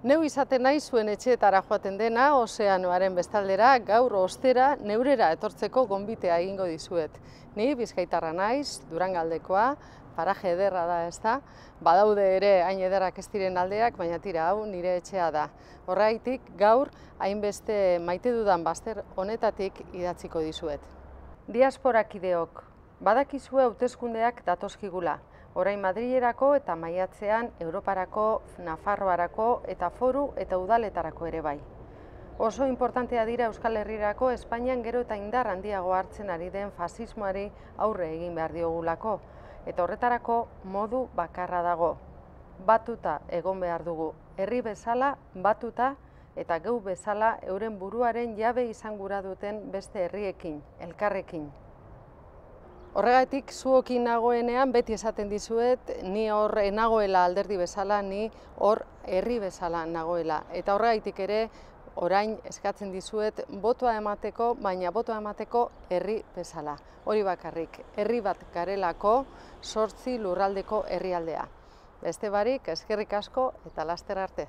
Neu izaten nahi zuen etxeetara joaten dena, ozeanoaren bestaldera, gaur ostera, neurera etortzeko gonbitea egingo dizuet. Ni Bizkaitarra naiz, Durangaldekoa, paraje ederra da, ezta? Badaude ere hain ederrak ez diren aldeak, baina tira hau nire etxea da. Horregatik gaur hainbeste maite dudan bazter honetatik idatziko dizuet. Diasporakideok, badakizue hauteskundeak datozkigula. Orain Madrilerako eta maiatzean Europarako, Nafarroarako eta foru eta udaletarako ere bai. Oso inportantea dira Euskal Herrirako Espainian gero eta indar handiago hartzen ari den fasismoari aurre egin behar diogulako. Eta horretarako modu bakarra dago. Batuta egon behar dugu, herri bezala batuta eta geu bezala euren buruaren jabe izan gura duten beste herriekin, elkarrekin. Horregatik zuokin nagoenean beti esaten dizuet, ni hor nagoela alderdi bezala, ni hor herri bezala nagoela. Eta horregatik ere orain eskatzen dizuet botoa emateko, baina botoa emateko herri bezala. Hori bakarrik, herri bat garelako 8 lurraldeko herrialdea. Beste barik, eskerrik asko eta laster arte.